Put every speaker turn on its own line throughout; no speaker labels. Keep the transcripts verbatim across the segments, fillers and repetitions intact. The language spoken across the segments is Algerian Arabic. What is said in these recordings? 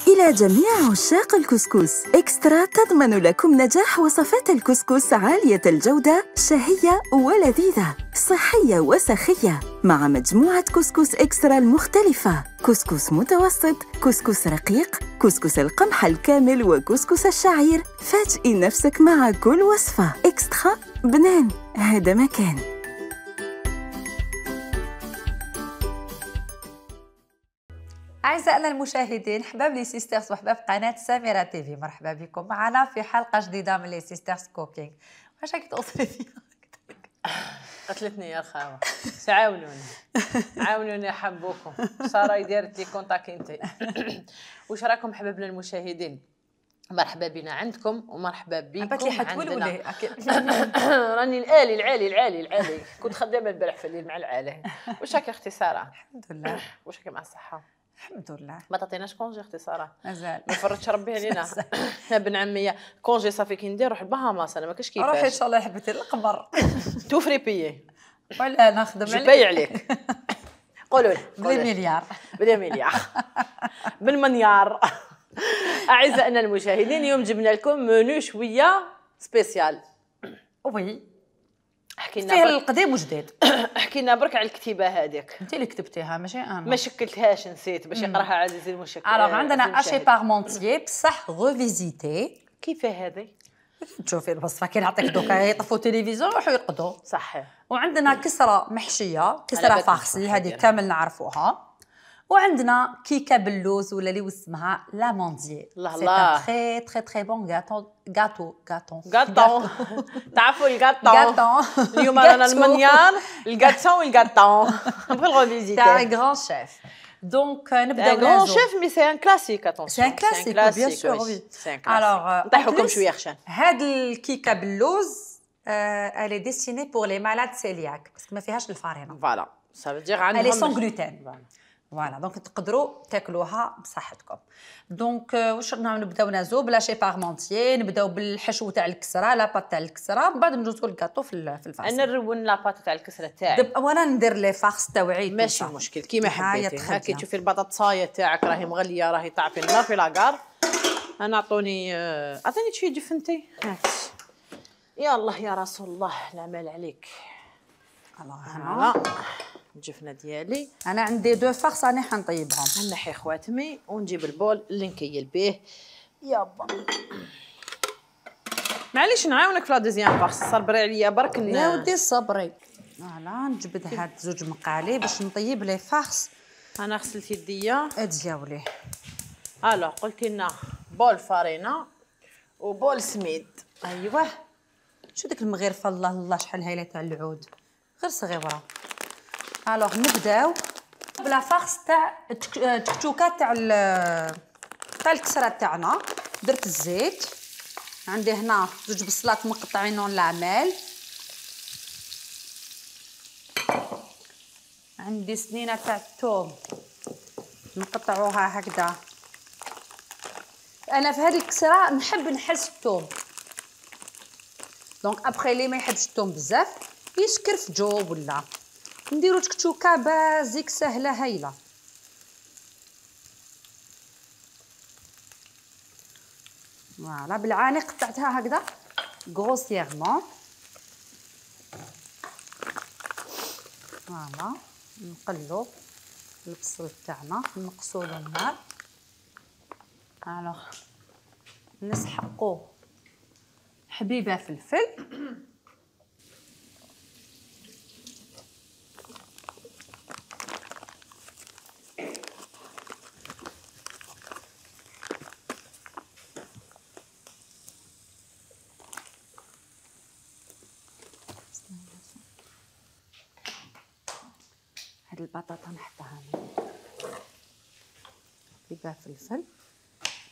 إلى جميع عشاق الكسكس، إكسترا تضمن لكم نجاح وصفات الكسكس عالية الجودة، شهية ولذيذة، صحية وسخية، مع مجموعة كسكس إكسترا المختلفة: كسكس متوسط، كسكس رقيق، كسكس القمح الكامل، وكسكس الشعير. فاجئي نفسك مع كل وصفة. إكسترا بنان، هذا مكان.
أعزائنا المشاهدين، حباب لي سيسترز وحباب قناة سميرة تيفي، مرحبا بكم معنا في حلقة جديدة من لي سيسترز كوكينغ. واش راكي توصلي فيا؟
قتلتني يا خاوة، تعاونوني عاونوني حبوكم. سارة دارت لي كونتاكتي. واش راكم حبابنا المشاهدين؟ مرحبا بنا عندكم ومرحبا بكم عندنا. راني الالي العالي العالي العالي كنت خدامه البارح في الليل مع العالي. واش راكي اختي سارة؟
الحمد لله.
واش راكي مع الصحة؟
الحمد لله.
ما تعطيناش كونجي اختي سارة؟
مازال
ما فرضش ربي علينا. يا بن عمي كونجي صافي كي ندير روح البهاماس، انا ما كاش كيفاش.
روحي ان شاء الله حبيتي القمر.
توفري بيي
ولا نخدم
عليك جباي عليك. قولوا لي
بالمليار
بالمليار بالمليار. اعزائنا المشاهدين، اليوم جبنا لكم منو شويه سبيسيال.
وي
حكينا
فيه القديم وجديد.
حكينا برك على الكتيبه هذيك.
انت اللي كتبتيها ماشي انا.
ما شكلتهاش، نسيت باش يقراها عزيزي المشكل.
الوغ عندنا اشي بارمونتيي بصح ريفيزيتي.
كيف هذه؟
تشوفي الوصفه كي نعطيك دوكا يطفوا التلفزيون يروحوا يرقدوا.
صحيح.
وعندنا كسره محشيه، كسره فارسي هذه كامل نعرفوها. وعندنا كيكه باللوز ولا اللي اسمها لاموندي.
الله الله.
تري تري تري بون غاتو غاتو غاتو
غاتو. تعرفوا الغاتو؟
غاتو.
اليوم رانا المنيار الغاتو والغاتو. نبغي الغوفيزيتي.
تاع غران شيف. دونك نبداو
غران شيف مي سي ان كلاسيك. اتونسيون
سي ان كلاسيك بيان سور وي.
الوغ نطيحوكم شويه خشان.
هاد الكيكه باللوز الي ديستيني بور لي مالاد سيلياك باسكو ما فيهاش الفارينه.
فوالا سا فو دير عندهم
الي سون غلوتين. فوالا دونك تقدروا تاكلوها بصحتكم. دونك واش نبداو نازو بلا شي بارمونتيي، نبداو بالحشو تاع الكسره، لا بات تاع الكسره، من بعد ندوزو للكاطو في في الفاصل.
انا نرون لا بات تاع الكسره تاعي.
وانا ندير لي فارس تاعي.
ماشي مشكل كيما حبيتي. هاكي تشوفي البطاطسايه تاعك راهي مغليه، راهي طاعفي النار في لاكار. انا عطوني عطيني شويه جفنتي. هاك يا يا رسول الله العمل عليك.
الله
هنا الجفنه ديالي.
انا عندي دو فارس راني حنطيبهم.
نحي خواتمي ونجيب البول اللي نكيل به. يابا معليش نعاونك في لا دوزيام فارس، صبري عليا برك.
يا ودي صبري. فوالا نجبد هاد زوج مقالي باش نطيب لي فارس.
انا غسلت يديا.
اتجاولي.
الو قلتي لنا بول فارينه وبول سميد.
ايوه شو ديك المغرفه الله الله شحال هايله تاع العود، غير صغيره. الوغ نبداو بلا فارس تاع التكتوكات تاع تاع الكسره تاعنا. درت الزيت، عندي هنا زوج بصلات مقطعينهم العمال، عندي سنينه تاع الثوم نقطعوها هكذا. انا في هذه الكسره نحب نحس الثوم، دونك ابخي لي ما يحبش الثوم بزاف يسكر في جو ولا نديرو تكتوكه بازيك سهله هايله. فوالا بالعاني قطعتها هكذا غروسييرمون. فوالا نقلو البصل تاعنا نقصولو النار. الوغ نسحقو حبيبه فلفل. هاد البطاطا نحطها هنا حبيبه فلفل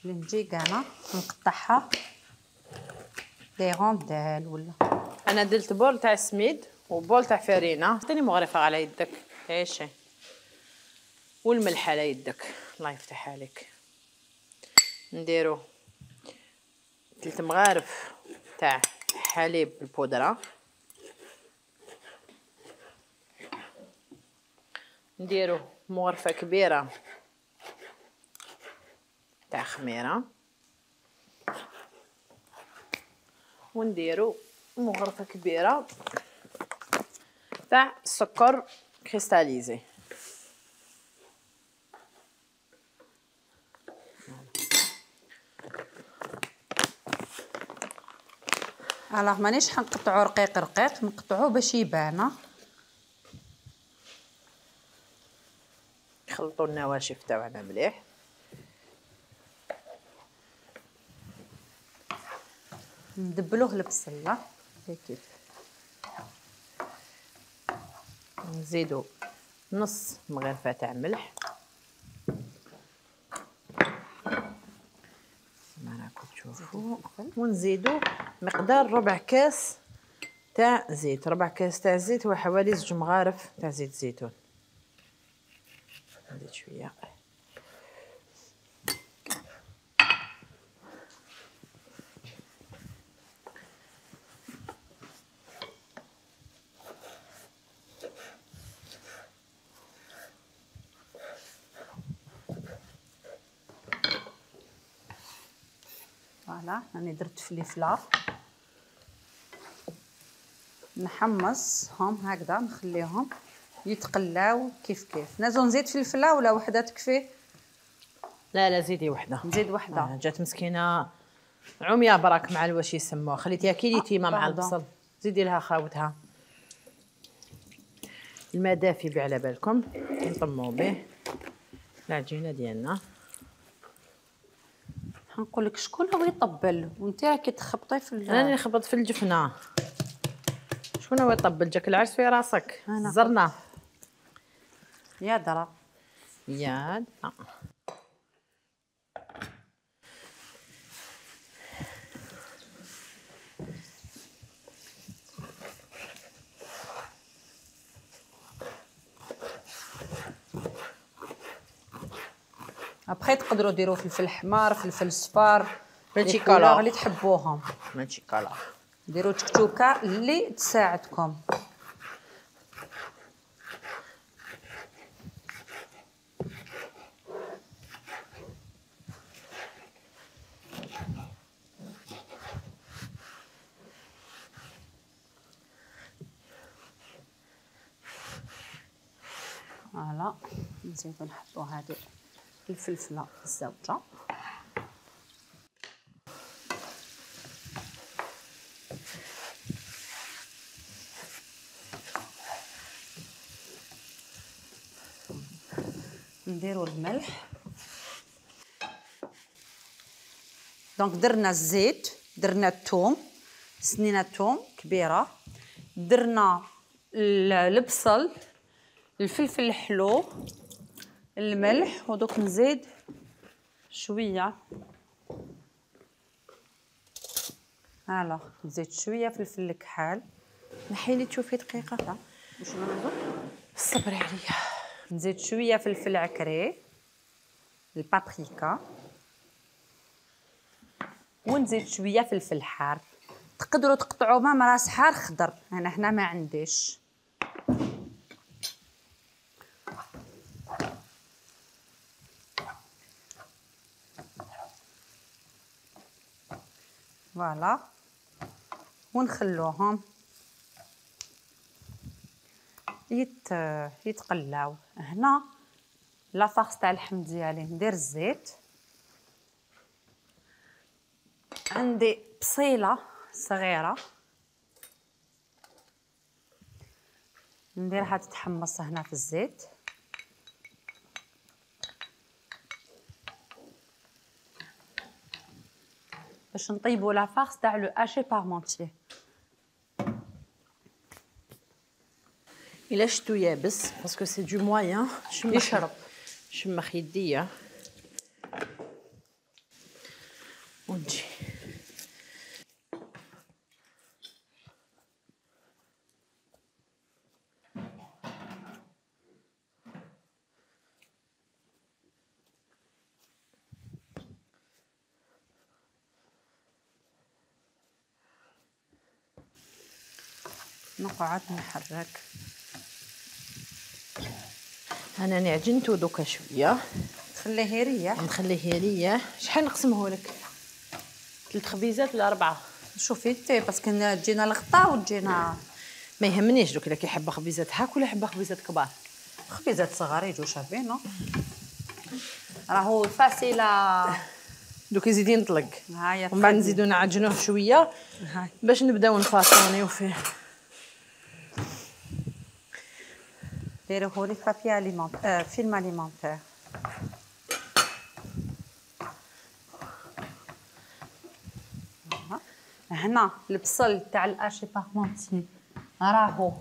اللي نجي كانا نقطعها دي رونديل ولا.
انا درت بول تاع سميد وبول تاع فرينه. عطيني مغرفه على يدك عيشي والملح على يدك الله يفتح عليك. نديرو ثلاث مغارف تاع حليب بالبودره، نديرو مغرفه كبيره تاع خميره ونديرو مغرفه كبيره تاع السكر كريستاليزي.
الوغ مانيش حنقطعو رقيق رقيق، نقطعوه باش يبان.
نخلطوا النواشف تاعنا مليح.
ندبلوه البصله
هيك، نزيدو نص مغرفه تاع ملح كما راكم تشوفوا، ونزيدو مقدار ربع كاس تاع زيت. ربع كاس تاع زيت هو حوالي زوج مغارف تاع زيت زيتون. نزيد شويه
فوالا. راني درت فليفله، نحمصهم هكذا، نخليهم يتقلاو كيف كيف. نازل نزيد فلفله ولا وحده تكفي؟
لا لا زيدي وحده.
نزيد وحده.
آه جات مسكينه عمية براك مع الواش يسموها، خليتيها كي تيمه مع البصل. زيدي لها خاوتها. الماء دافي بيه على بالكم، نطمو به العجينه ديالنا.
حنقول لك شكون هو يطبل وانت راكي تخبطي في ال...
انا اللي خبط في الجفنه. شكون هو يطبل؟ جاك العرس في راسك. زرنا
يا درا
يا آه.
ابخي تقدروا ديروا فلفل حمار، فلفل صفار،
ماشي
الكولور
كولور
اللي تحبوهم.
ماشي كولور.
ديروا تكتوكه اللي تساعدكم. فوالا. نزيدو نحطو هذه الفلفله الزوجه. نديرو الملح. دونك درنا الزيت، درنا الثوم، سنينه الثوم كبيره، درنا البصل، الفلفل الحلو، الملح، ودوك نزيد شويه. الوغ نزيد شويه فلفل الكحال.
نحيلي تشوفي دقيقه.
وشنو نزيد؟
صبري عليا.
نزيد شويه فلفل عكري، البابريكا، ونزيد شويه فلفل حار. تقدروا تقطعوا مام راس حار خضر، انا هنا ما عنديش. فوالا. ونخلوهم يت يتقلاو. هنا لافارس تاع اللحم ديالي ندير الزيت. عندي بصيله صغيره نديرها تتحمص هنا في الزيت. باش نطيبوا لافارس تاع لو هاشي بارمونتيي.
الا شتو يابس باسكو سي دو موين
يشرب.
شمخ يديا ونجي
نقعد نحرك.
انا عجنتو دوكا شويه
خليه يريح.
نخليه يريح. شحال نقسمه لك؟ ثلاث خبيزات ولا اربعه؟
شوفي انت باسكو تجينا الغطا وتجينا.
ما يهمنيش دوك الا كيحب خبيزات هاك ولا يحب خبيزات كبار.
خبيزات صغار يجوا شابين. راهو فاسيله.
دوك يزيد ينطلق.
هاهي
ومن بعد نزيدو نعجنوه شويه باش نبداو نفاصونيو فيه.
ديروه لي بابي اليمونتير فيلم اليمونتير. هنا البصل تاع الاشي بارمونتي راهو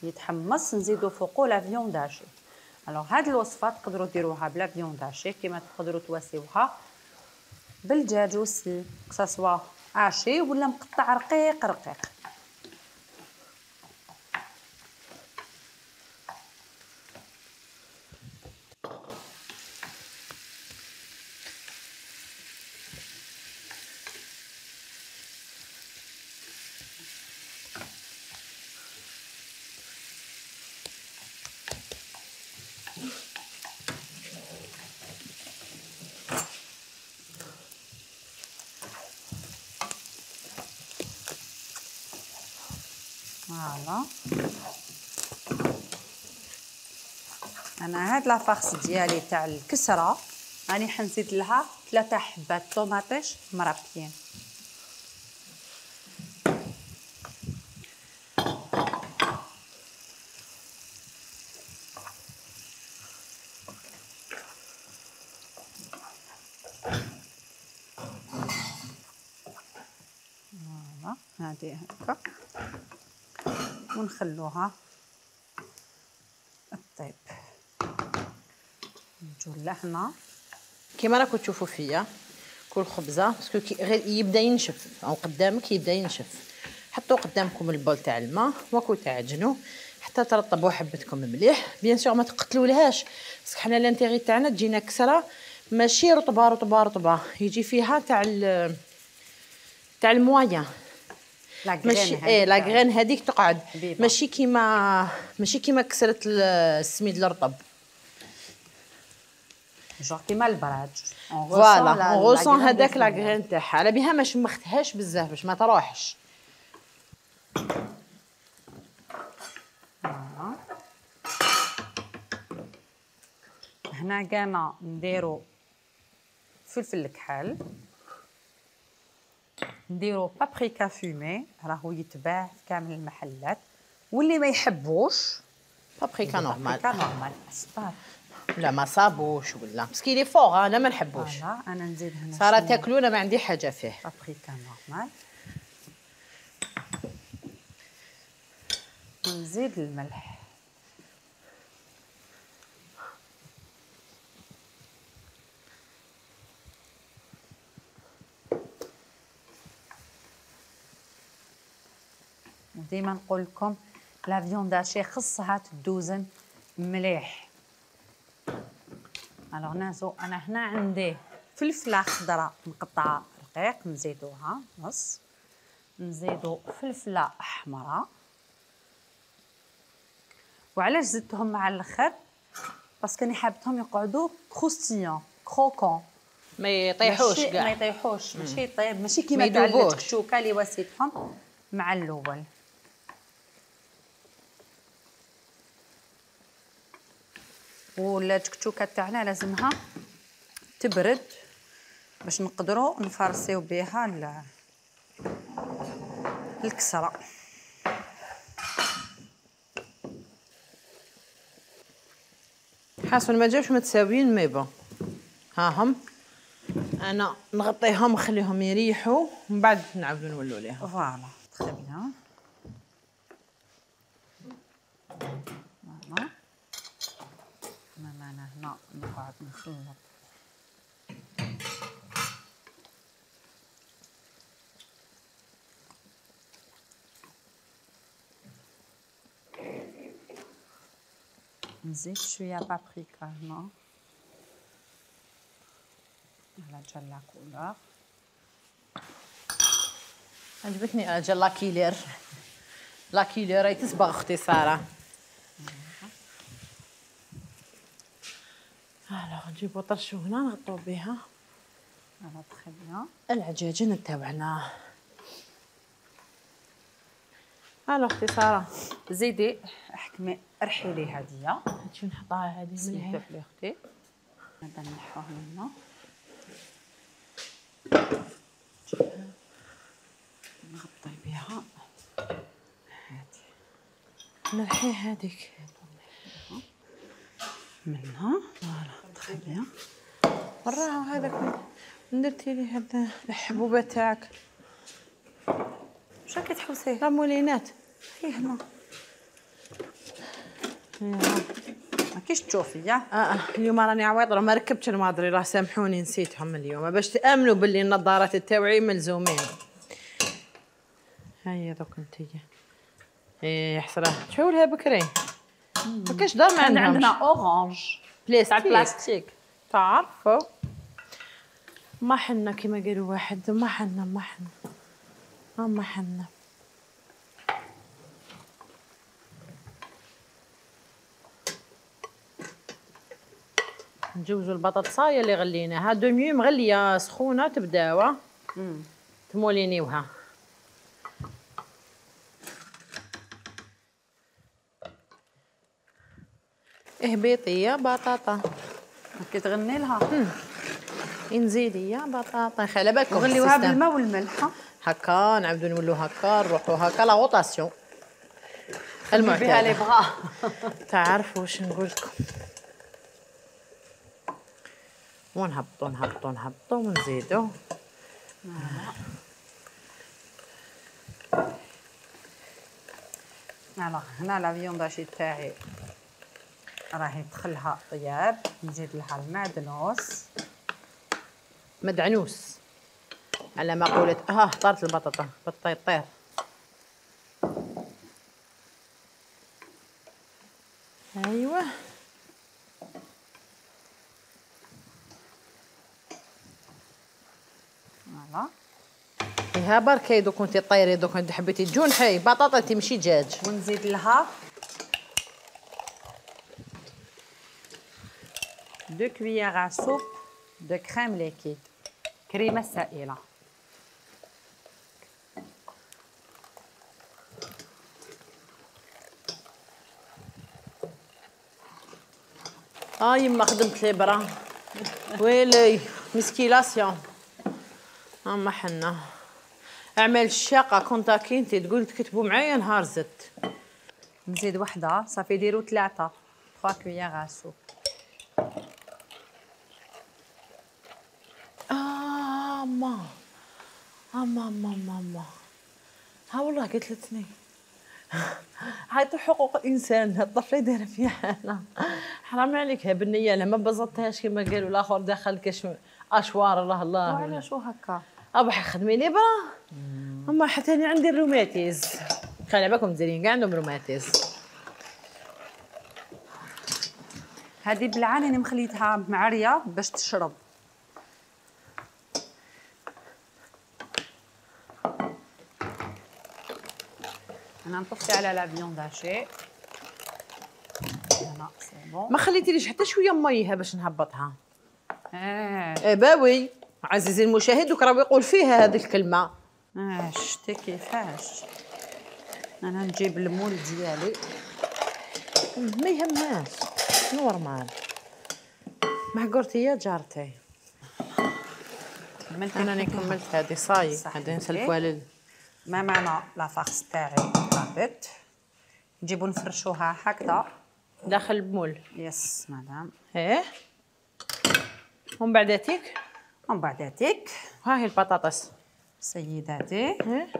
يتحمص، نزيدو فوقو لا فيوند هاشي. الوغ هاد الوصفه تقدروا ديروها بلا فيوند هاشي، كيما تقدروا تواسيوها بالدجاج وسي كساسوا هاشي ولا مقطع رقيق رقيق. فوالا انا هاد لافارس ديالي تاع الكسره راني حنزيد لها ثلاثه حبات طوماطيش مربيين. فوالا هادي هكا ونخلوها طيب. نجو لهنا
كيما راكم تشوفوا فيا كل خبزه باسكو كي غير يبدا ينشف او قدامك يبدا ينشف. حطوا قدامكم البول تاع الماء وكو تعجنوا حتى ترطبوا حبتكم مليح. بيان سور ما تقتلولهاش باسكو حنا لانتيغي تاعنا تجينا كسره ماشي رطبه رطبه رطبه، يجي فيها تاع تاع الموايا ماشي ايه لا غرين هذيك تقعد حبيبة. ماشي كيما ماشي كيما كسرت السميد الرطب
جور كيما البراج.
فوالا اون غوسون هذاك لا غرين تاعها. على بها ما شمختهاش بزاف باش ما تروحش.
هنا كانا نديرو فلفل الكحل، نديرو بابريكا فومي راهو يتباع في كامل المحلات، واللي ما يحبوش
بابريكا نورمال.
بابريكا نورمال صبار
لا ما صابوش ولا باسكو لي فوغ انا ما نحبوش.
فوالا انا نزيد هنا
صارا تاكلونا ما عندي حاجه فيه.
بابريكا نورمال ونزيد الملح. وديما نقول لكم لا فيوند هاشي خصها تدوزن مليح. الوغ نازو انا هنا عندي فلفله خضراء مقطعه رقيق نزيدوها نص، نزيدو فلفله حمراء. وعلاش زدتهم مع الاخر؟ باسكو راني حابتهم يقعدوا كروستيون كروكون
ما يطيحوش كاع.
ما يطيحوش ماشي يطيب ماشي كيما تاع الكشوكه اللي واسيتهم مع الاول. والتكتوكه تاعنا لازمها تبرد باش نقدروا نفرسيو بها الكسره.
حاسه ما جاوش متساويين مي بون ها هم. انا نغطيهم ونخليهم يريحوا ومن بعد نعاودوا نولوا ليها.
فوالا تري بيان. فوالا انا هنا نقعد نخلط نزيد شويه بابريكا هنا على جال لا كولور.
عجبتني اجل لا كيلير. لا كيلير راهي تصبغ اختي ساره. الوغ نجيبو طرشو هنا نغطو بها.
فوالا تخي بيان.
العجاجين تاوعنا. الوغ اختي ساره
زيدي احكمي ارحي لي هاديه.
هادشي نحطها هادي من هنا
لي اختي. هذا نحوه من هنا. نغطي بها هادي.
نرحي هذيك
منها. فوالا تخي بيان.
وراه هذاك درتي لي هاد الحبوبه تاعك.
واش راكي تحوسيه؟
راه مولينات
هي هنا. ما كيش تشوفي يا.
اه اليوم راني عويضه ما ركبتش الماضري راه سامحوني نسيتهم اليوم باش تامنوا باللي النظارات تاوعي ملزومين. هيا دوك انتيا. ايه حسره شوفوا بكري ما كاش دار ما عندنا.
عندنا اورانج
بلاستيك
تاع بلاستيك
تعرفوا ما حنا كيما قالوا واحد ما حنا ما حنا ما حنا. نجوزوا البطاطسايه اللي غليناها دوميو مغليه سخونه تبداوها تمولينيوها. اهبيطي يا بطاطا
كي تغني لها.
نزيدي يا بطاطا خلي بالكم
نغليوها بالماء والملح
هكا نعاودو نولو هكا نروحو هكا لا غوطاسيون
المعتاد بها لي بغا.
تعرفوا واش نقول لكم. ونهبطو نهبطو نهبطو ونزيدو.
فوالا هنا لا فيونداشي تاعي راهي دخلها طياب. نزيد لها المعدنوس.
مدعنوس على ما قولت. اه طارت البطاطا بالطير. ايوه
فوالا.
ها بركي دوك كنتي طيري دوك انت حبيتي تجونحي بطاطا تمشي دجاج.
ونزيد لها دو كويير سوب دو كريم ليكيد كريمه سائله.
اه يما خدمت الابره ويلي مسكيلاسيون. اما حنا اعمل الشاقه كونتاكي انت تقول تكتبوا معايا نهار زدت.
نزيد وحده صافي ديروا ثلاثه ثلاثة كويير سوب.
اه ما اما ما ماما ها والله قتلتني. هاي حقوق الانسان الطفله دايره فيها حالها. حرام عليك ها بالنيه لما بزطتهاش كما قالوا الاخر دخل كاش اشوار الله الله.
وعلاش هكا
ابا خدمي لي برا. اما حتى انا عندي الروماتيز خلي بالكم دايرين كاع عندهم روماتيز.
هذه بالعاني انا مخليتها معريه باش تشرب. انا نطفي على لا فيونداشي. انا سي بون.
ما خليتيليش حتى شويه ميها باش نهبطها.
اه
ايه باوي عزيزي المشاهد دوك راه يقول فيها هذه الكلمه.
اه شتي كيفاش. انا نجيب المول ديالي.
ما يهمهاش نورمال. معقورتي يا جارتي. انا راني كملت هذه صاي هذه نسلفوها لل.
ما معنى لا فارس تاعي طابت. نجيبو نفرشوها هكذا
داخل المول.
يس مدام.
ايه ومن بعداتيك
ومن بعداتيك
ها هي البطاطس
سيداتي.
ايه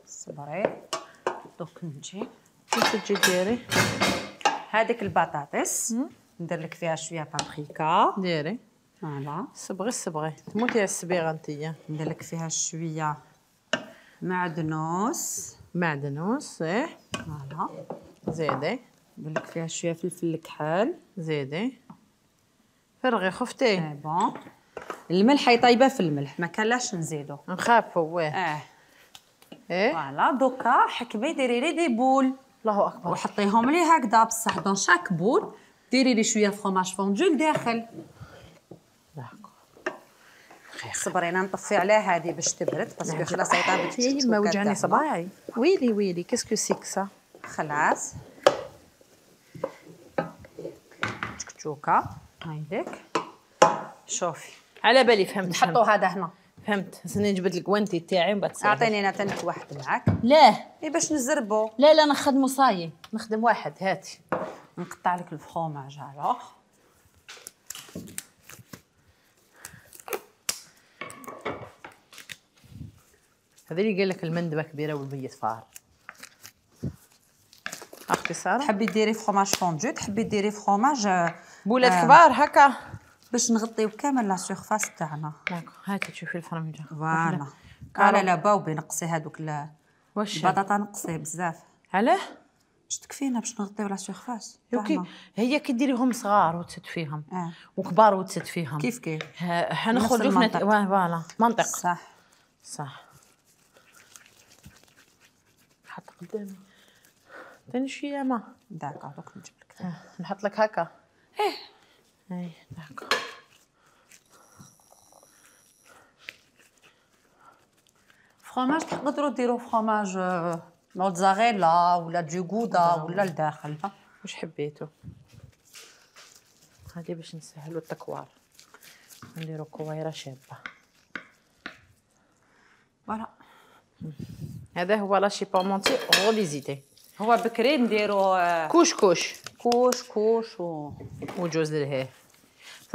صبري دوك نجي
كيف تجي ديري
هذيك البطاطس ندير لك فيها شويه بابريكا.
ديري
فوالا
صبغي صبغي تموتي على الصبيغه انتيا.
ندير لك فيها شويه معدنوس.
معدنوس ايه
فوالا
زيدي.
ندير لك فيها شويه فلفل الكحل.
زيدي فرغي خفتي.
اي بون الملح يطيبه في الملح ما كانلاش نزيدو
نخافوا واه
اه
ايه
فوالا. دوكا حكمي ديري لي دي بول
الله اكبر
وحطيهم لي هكذا بصح دون شاك بول ديري لي شويه فروماج فوندو لداخل.
دقيقه.
صبرينا نطفي عليها هذه باش تبرد باسكو خلاص هي طابت
هي ما وجعني صباعي. ويلي ويلي كاسكو سيك سا.
خلاص تكتوكه هايديك. شوفي
على بالي فهمت.
نحطوا هذا هنا.
فهمت. هسني جبت الكوانتي تاعي ومن بعد
اعطيني انا تاني واحد معاك.
لا
اي باش نزربو.
لا لا نخدمو صايي نخدم واحد. هاتي
نقطع لك الفرomاج الوغ.
هذا اللي قال لك المندبه كبيره والبيت فار. اختي ساره
تحبي ديري فرomاج فوندو تحبي ديري فرomاج
بولات آه. كبار هكا
باش نغطيو كامل لا سيرفاس تاعنا.
داكو هاتي تشوفي الفرمجه.
فوالا لا لا باوبي نقصي هذوك البطاطا نقصيه بزاف.
علاه؟
باش تكفينا باش نغطيو لا سيرفاس.
اوكي هي كي ديريهم صغار وتسد فيهم
آه.
وكبار وتسد فيهم
كيف كيف
حنخرجوا في نت... فوالا منطق.
صح
صح. حط قدامي ثاني شويه ما
داكا دوك نجيب لك.
آه. نحط لك هكا. ايه اي داكا.
فرomاج تقدروا ديروا فرomاج موتزاريلا ولا دو غودا ولا لداخل
واش حبيتو. هذه باش نسهلوا التكوار نديروا كويره شابه.
فوالا
هذا هو لاشي بارمونتي غوليزيتي.
هو بكري نديروا
كوش كوش
كوش كوش و
وجوز الهيه.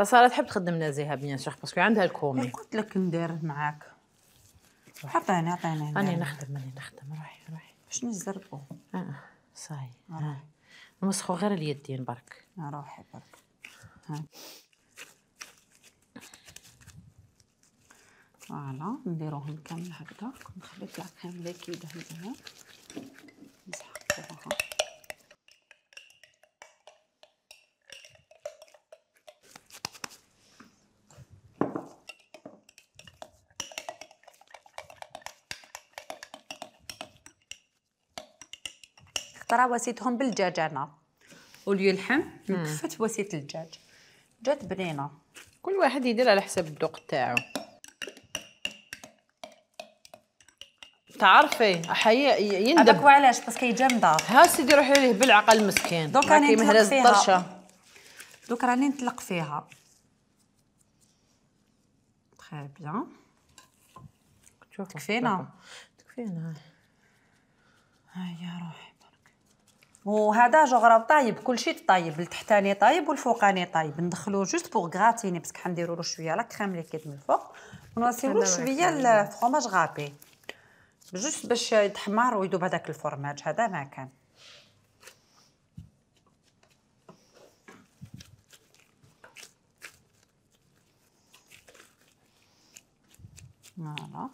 ساره تحب تخدم نزيهه بيان سور باسكو عندها الكومي.
قلت لك ندير معاك. عطيني عطيني
راني نخدم راني نخدم. روحي روحي
باش نزربو.
اه صاي اه نمسخو غير اليدين برك.
روحي برك. ها فوالا نديروهم كامل هكذا. نخليك لا كريم ليكيد هزها نسحقوها. ترى وسيتهم بالدجاج انا وليو اللحم كفت وسيت الدجاج جات بنينه.
كل واحد يدير على حسب الذوق تاعو. تعرفي حقيقة يندب.
هذاك وعلاش باسكو جامده.
ها سيدي روحي ليه بالعقل مسكين.
دوك راني نطلق فيها. دوك راني نطلق فيها. تري بيان. تكفينا
تكفينا.
هيا روحي برك. وهذا جوغ طايب كلشي طايب التحتاني طايب والفوقاني طايب. ندخلوه جوست بوغ غراتيني باسكو حنديروا له شويه لا كريم ليكيد من الفوق ونوصيو شويه الفرomاج غابي جوست باش يتحمر ويذوب هذاك الفرماج. هذا ما كان. فوالا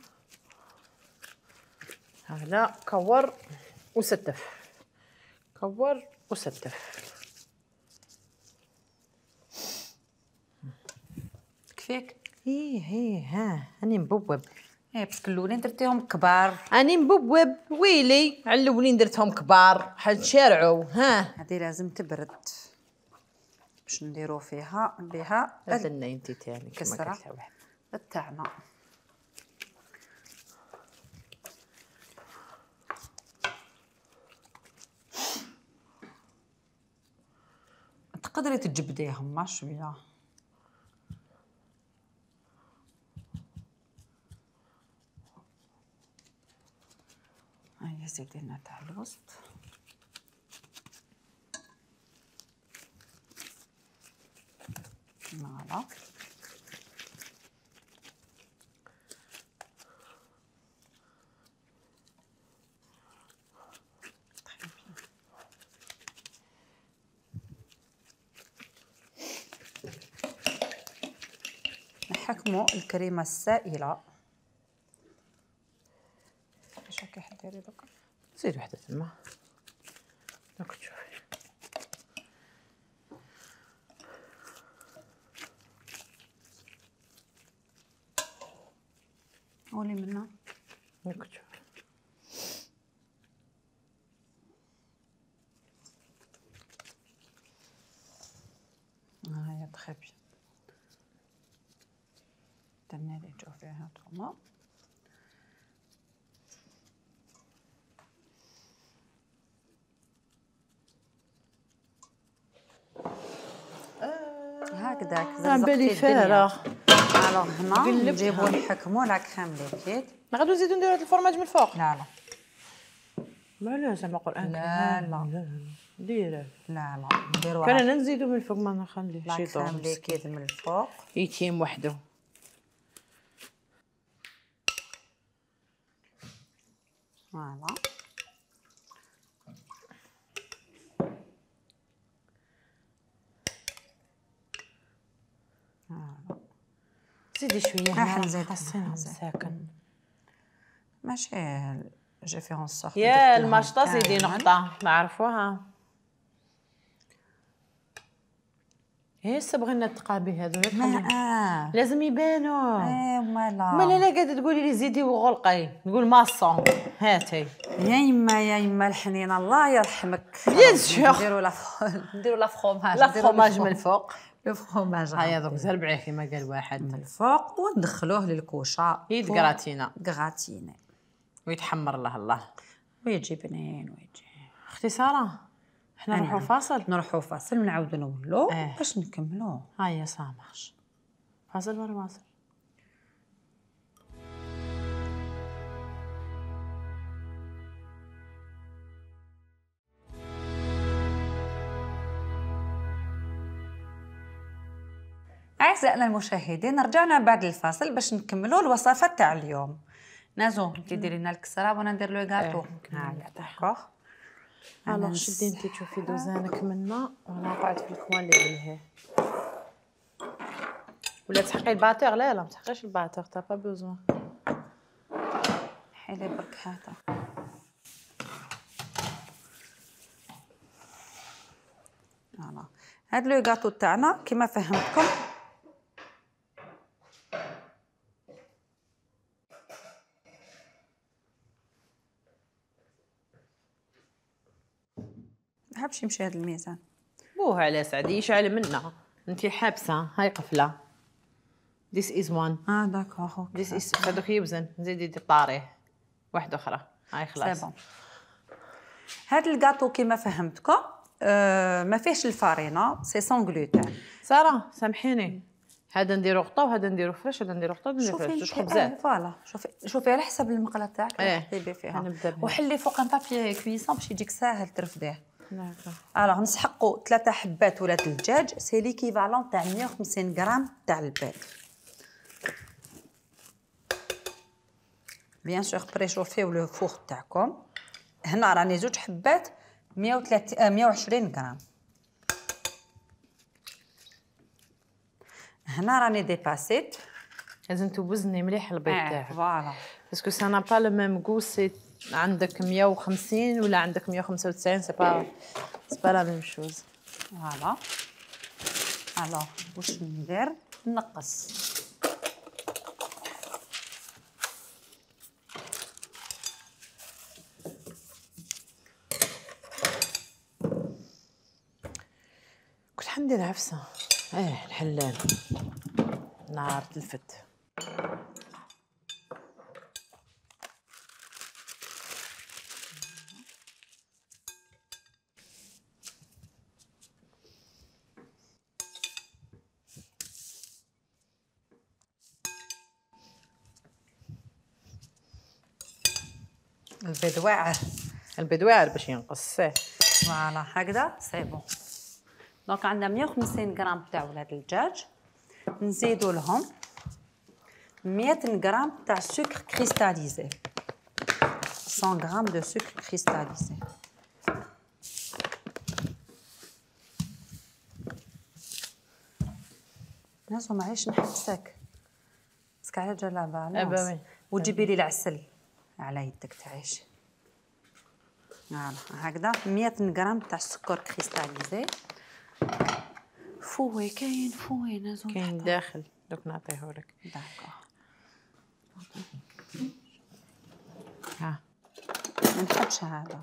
هلا كور وستف كور وستف.
تكفيك.
ايه ايه ها راني مبوب.
ايه باسكو الاولين درتيهم كبار.
راني مبوب ويلي على الاولين درتهم كبار حنشارعوا. ها
هذه لازم تبرد باش نديرو فيها بها
هذا انت تاني
كسره تاعنا. تقدري تجبديهم ما شويه. هيا زيدي لنا تاع الوسط. فوالا نحكموا الكريمه السائله. اش راكي حديري دوكا؟
زيد وحده تما دوك تشوفي.
قولي منها
دوك تشوفي.
هاهي تخي بيان. درنا لي جو فيها هانتوما. هكذاك
بالي فارغ.
الوغ هنا نجيبو نحكمو لا كريم ليكيد.
نقدروا نزيدو نديرو هاد الفرماج من الفوق؟
لا لا
ما لا زعما قران
لا لا
ديره
لا لا نديرو
كان انا نزيدو من الفوق ما نخليهش
لا
يطول
كريم ليكيد من الفوق
يتيم وحده.
فوالا
زيدي شويه.
راح نزيد
حسين ساكن
ماشي جي في اون سورت.
يا المشطه زيدي نقطه ما عرفوها. هسه بغينا التقابي هذو
اه
لازم يبانوا.
ايه مالا
مالا لا قاعده تقولي لي زيدي وغلقي نقول ماصون هاتي.
يا يما يا يما الحنينه الله يرحمك.
بيان سور
نديرو لا نديرو لا فروماج.
لا فروماج من الفوق.
لو فروماج
هيا دوك زربعيه كيما قال واحد
من الفوق وندخلوه للكوشه
يتكراتينا
كراتيني
ويتحمر له الله
ويجي بنين ويجي.
اختي ساره حنا نروحو فاصل.
نروحو فاصل ونعاودو نولو
اه.
باش نكملو.
هيا سامحش فاصل ولا واصل.
أعزائنا المشاهدين رجعنا بعد الفاصل باش نكملوا الوصفات تاع اليوم. نازو انت ديري لنا الكسره وانا ندير لو غاتو. هايا داكوغ.
الوغ شدي انت تشوفي دوزانك منا وانا قعدت في الكوان اللي عليه. ولا تحقي الباتور؟ لا لا ما تحقيش الباتور تا با بوزوان.
حيلي برك هذا. فوالا هاد لو غاتو تاعنا كيما فهمتكم حابش يمشي هذا الميزان.
بوه على سعدي يشعل منا انتي حابسه. هاي قفله. This is one.
اه داكوغ.
This is هذوك يوزن زيدي دي طاريه واحده اخرى. هاي خلاص.
سي بون. هاد الكاطو كيما فهمتكم آه ما فيهش الفارينه سي سون غلوتين.
ساره سامحيني هذا نديرو غطا وهذا نديرو فريش وهذا نديرو غطا ونديرو فريش جوج خبزات.
فوالا شوفي شوفي على حسب المقله تاعك
ايه
فيها. وحلي فوق ان بابي كويسون باش يجيك ساهل ترفديه.
داكوغ.
الوغ نسحقوا ثلاثه حبات ولا الدجاج سي ليكيفالون تاع مية وخمسين غرام تاع البيض. بيان سور بريشوفيو لو فور تاعكم. هنا راني زوج حبات مية وثلاثين مية وعشرين غرام. هنا راني ديباسيت.
لازم توزني مليح البيض تاعك.
فوالا
باسكو سا نا با لو ميم غو. سي عندك مية وخمسين ولا عندك مية وخمسة وتسعين. سي با سي با لا ميم شوز.
فوالا الوغ واش ندير نقص.
كنت حندير عفسه. ايه الحلال نار تلفت.
البيض واعر.
البيض واعر باش ينقص. سي
فوالا هكذا سي بون. دونك عندنا مية وخمسين غرام تاع ولاد الدجاج. نزيدو لهم مية غرام تاع سكر كريستاليزي. مية غرام دو سكر كريستاليزي. نازو معليش نحبسك باسكو على جلابه على وتجيبي لي العسل على يدك تعيش. فوالا هكذا مية غرام تاع السكر كريستاليزي. فوي كاين فوي نازو
كاين داخل دوك نعطيهولك.
داكوغ.
ها
ما نحبش هذا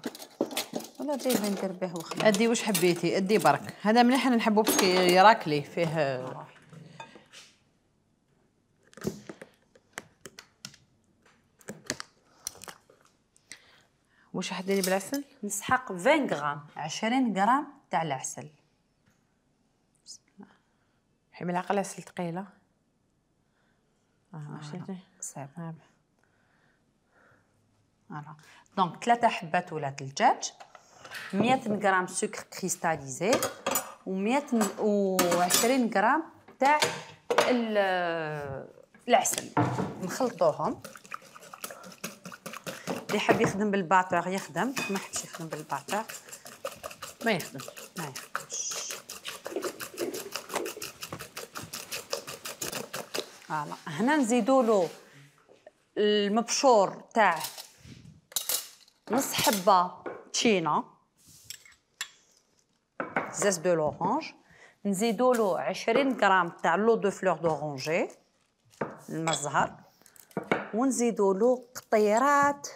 ولا جايبه ندير به وخلاص.
ادي واش حبيتي ادي برك. هذا مليح انا نحبو باسكو يراكلي فيه واش راح ديري بالعسل؟
نسحق عشرين غرام عشرين غرام تاع العسل.
حي ملعقه العسل ثقيله. اه شفتي
صافي فوالا. دونك ثلاثه حبات ولاد الدجاج، مية غرام سكر كريستاليزي، و100 وعشرين غرام تاع العسل. نخلطوهم. اللي حاب يخدم بالباطور يخدم، ما حبش يخدم بالباطور
ما يخدم
ما يخدمش. فوالا. هنا نزيدوا له المبشور تاع نص حبه تشينا، زاز دو لورانج. نزيدوا له عشرين غرام تاع لو دو فلور دورانجي الماء الزهر، ونزيدوا له قطيرات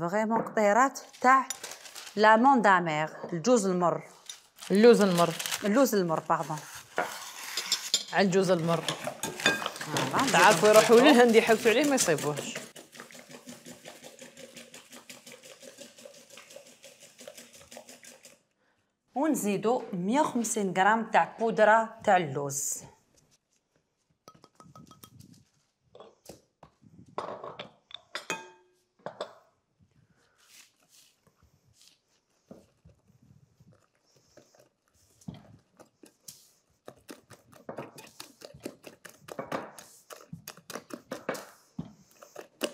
فريمون قطيرات تاع لامون دامير، الجوز المر.
اللوز المر
اللوز المر باردون.
على الجوز المر. تعرفوا يروحوا للهند يحوسوا عليه ما يصيبوهش.
ونزيدوا مية وخمسين غرام تاع بودره تاع اللوز.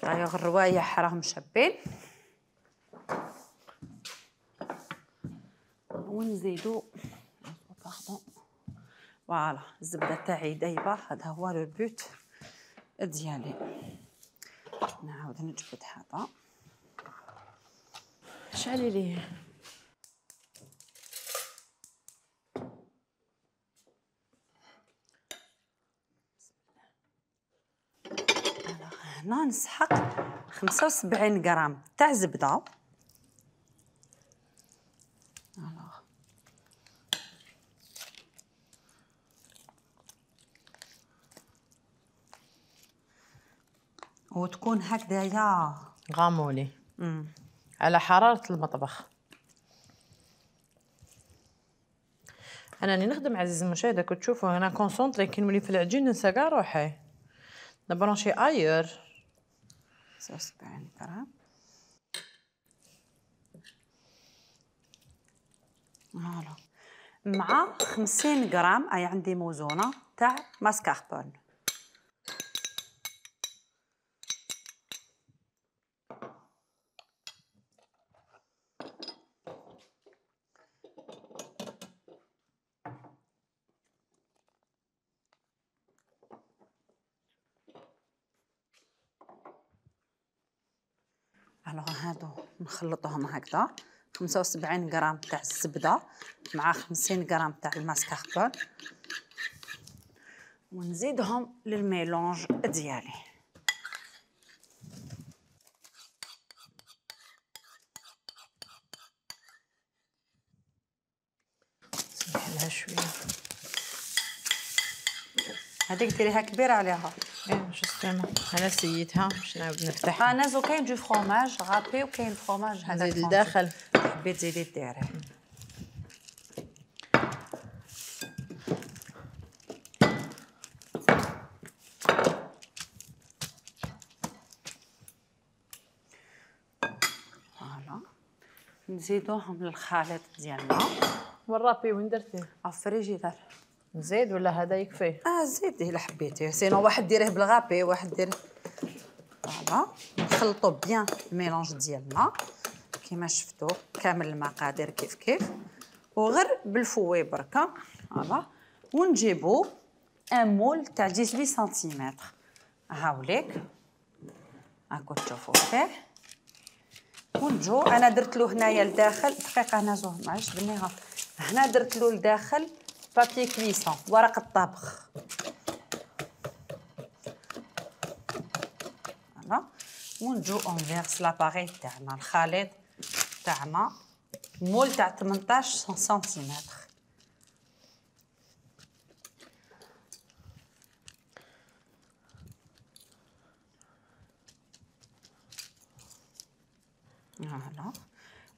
دايوغ الروايح راهم شابين. ونزيدو باردون فوالا الزبده تاعي دايبه، هذا هو لو بوت ديالي. نعاود نجبد هذا.
شعلي ليه
هنا نسحق خمسة وسبعين غرام تاع زبده. وتكون هكذايا
غامولي على حراره المطبخ. انا راني نخدم عزيزي المشاهد، كنت تشوفوا انا كونسونطري كي نولي في العجين ننسى كاع روحي، نبرونشي اير.
خمسة وسبعين غرام فوالا، مع خمسين غرام اي عندي موزونه تاع ماسكاربون. الوغ هادو نخلطهم هكذا، خمسة وسبعين غرام تاع الزبده مع خمسين غرام تاع الماسكاربون، ونزيدهم للميلونج ديالي.
نسمح لها شويه.
هذيك ديريها كبيره عليها.
ايه جوستومون انا سيتها باش نعاود نفتحها.
انا زو كاين دو فروماج غابي وكاين فروماج هذا
نزيد لداخل.
حبيت تزيدي ديريه. فوالا نزيدوهم للخليط ديالنا.
والرابي وين درتيه؟
الفريجيدار.
نزيد ولا هذا يكفي؟
اه زيديه الا حبيتي، سينو واحد ديريه بالغابي واحد ديريه. فوالا نخلطوا بيان الميلونج ديالنا كيما شفتوا، كامل المقادير كيف كيف، وغير بالفوي بركه. فوالا ونجيبوا ان مول تاع ثمانية عشر سنتيمتر. هاوليك هاكو تشوفوا فيه. ونجو انا درت له هنايا لداخل دقيقه، انا زوج ما عجبنيها، هنا درت له لداخل بابي كويسون ورق الطبخ. فوالا ونجو اونفيرس لاباري تاعنا الخليط تاعنا مول تاع ثمنطاش سنتيمتر. فوالا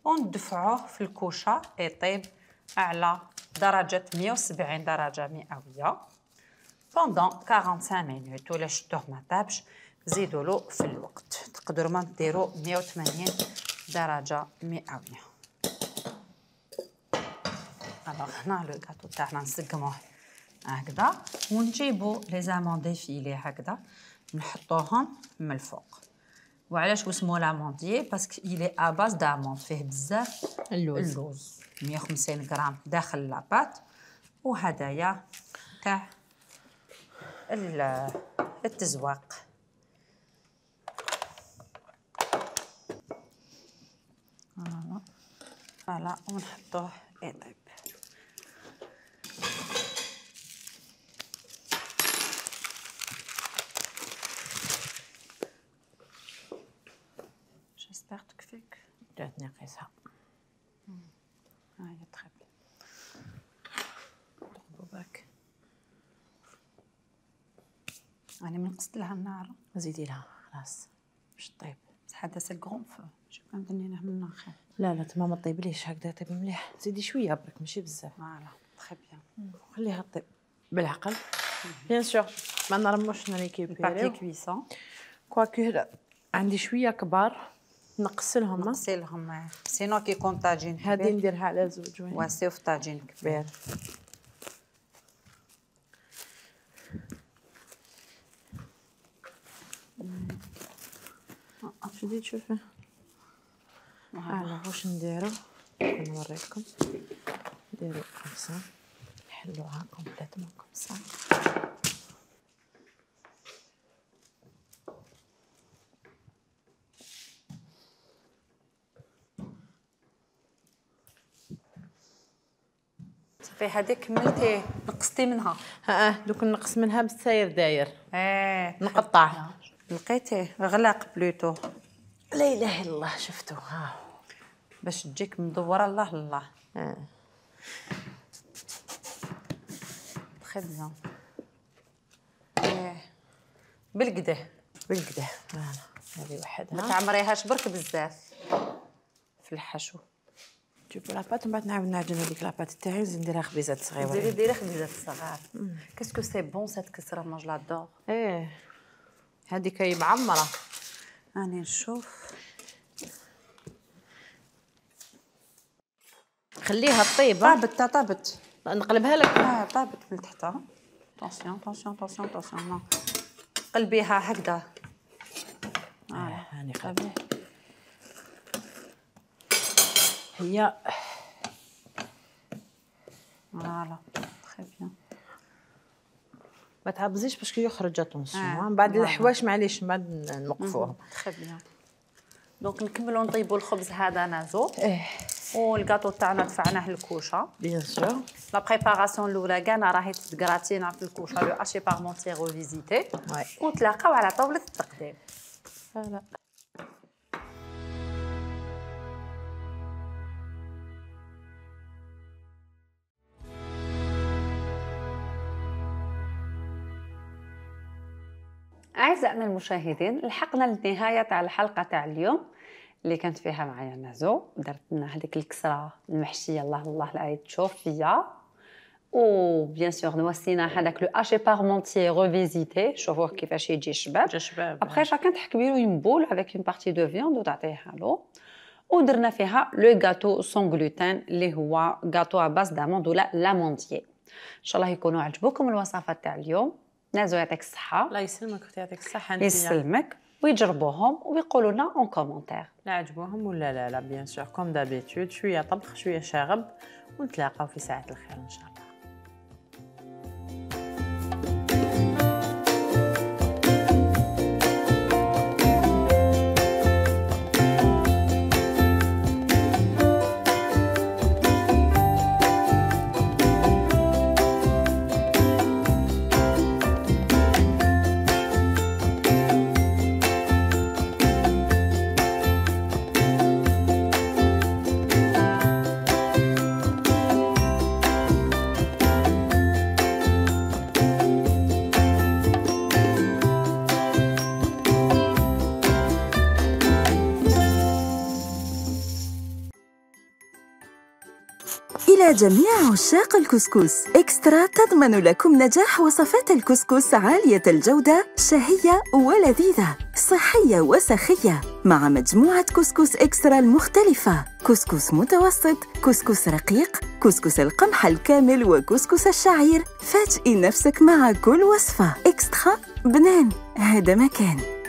وندفعوه في الكوشه يطيب على درجه مية وسبعين درجه مئويه بوندون خمسة وأربعين مينوت. ولا شفتوه ما طابش زيدوا له في الوقت، تقدروا ما ديروا مية وثمانين درجه مئويه. الوغ هنا لو غاتو تاعنا نسقموه هكذا ونجيبوا لي زامون ديفيلي هكذا نحطوهم من الفوق. وعلاش واسمو لامونديي؟ باسكو إلي ا باز داموند، فيه بزاف
اللوز
اللوز مية وخمسين غرام داخل لاباط. وهدايا تاع التزواق. فوالا فوالا ونحطوه يطيب. جيسبر تكفيك.
جاتني قيسها.
هاهي تخي بيان. نقلبو برك. راني من قصت لها النار.
زيدي لها خلاص باش طيب.
بصح هذا سي الكغون فو، شوف كان درني من النار.
لا لا تما ما طيبليش هكذا، طيب مليح. زيدي شويه برك ماشي بزاف.
فوالا تخي بيان.
خليها طيب بالعقل بيان سور. ما نرموش نريكيبيريو
بارتي كويسون
كواكو عندي شويه كبار نقصلهم.
نغسلهم سينو كي يكون طاجين كبير
هادي نديرها على زوج وين
واسيو في طاجين كبير.
شدي تشوفي على واش نديرو. نوريكم نديرو كومسا نحلوها كومبليتمون كومسا.
صافي هذيك كملتي نقصتي منها.
ها دوك نقص منها بالساير داير.
اه
نقطع
لقيتيه غلاق بلوتو.
لا اله الا الله. شفتو ها
باش تجيك مدوره. الله الله.
اه
تخي بيان. اه بالكدا
بالكدا. فوالا هذه وحدها.
ما تعمريهاش برك بزاف في الحشو.
جيبو لاباط ومن بعد نعاود نعجن هذيك لاباط تاعي نزيد نديرها خبيزات صغيره.
ديري ديري خبيزات صغار. كاسكو سي بون سات كسره مون جلادور.
ايه هذيك هي معمره.
راني نشوف.
خليها طيبه.
طابت طابت.
نقلبها لك.
اه طابت من تحتها. طونسيون طونسيون طونسيون طونسيون. قلبيها هكذا.
اه هاني قلبي. هي
فوالا تري بيان.
ما تعبزيش باش كي يخرج اتونسيون. من بعد الحوايش معليش من بعد نوقفوهم.
تري بيان. دونك نكملوا نطيبوا الخبز هذا نازو.
ايه
والكاطو تاعنا دفعناه للكوشه.
بيان سور.
لا بريباراسيون الاولى كاع راهي تتكراتينا في الكوشه لو اشي بارمونتير ريفيزيتي.
واي
ونتلاقاو على طاوله التقديم.
فوالا.
أعزائنا المشاهدين، لحقنا للنهاية تاع الحلقة تاع اليوم اللي كانت فيها معايا نازو. درت لنا هذيك الكسرة المحشية الله الله لا تشوف فيا. و بيان سور نوصينا هذاك لو اشي بارمونتيي ريفيزيتي. شوفوه كيفاش يجي شباب.
جا شباب.
ابخي شاكان تحكبي له اون بول افيك اون بارتي دو فياند وتعطيها له. ودرنا فيها لو غاتو سون غلوتين اللي هو غاتو ا باز داموند ولا لامونديي. ان شاء الله يكونوا عجبوكم الوصفات تاع اليوم. نازو يعطيك الصحة.
الله يسلمك اختي يعطيك الصحة.
يسلمك. ويجربوهم ويقولوا لنا اون كومونتير
لا عجبوهم ولا لا. لا بيان سور كوم دابيتود شوية طبخ شوية شاغب ونتلاقاو في ساعة الخير ان شاء الله.
إلى جميع عشاق الكسكس، إكسترا تضمن لكم نجاح وصفات الكسكس عالية الجودة، شهية ولذيذة، صحية وسخية، مع مجموعة كسكس إكسترا المختلفة: كسكس متوسط، كسكس رقيق، كسكس القمح الكامل، وكسكس الشعير. فاجئي نفسك مع كل وصفة. إكسترا بنان، هذا مكان.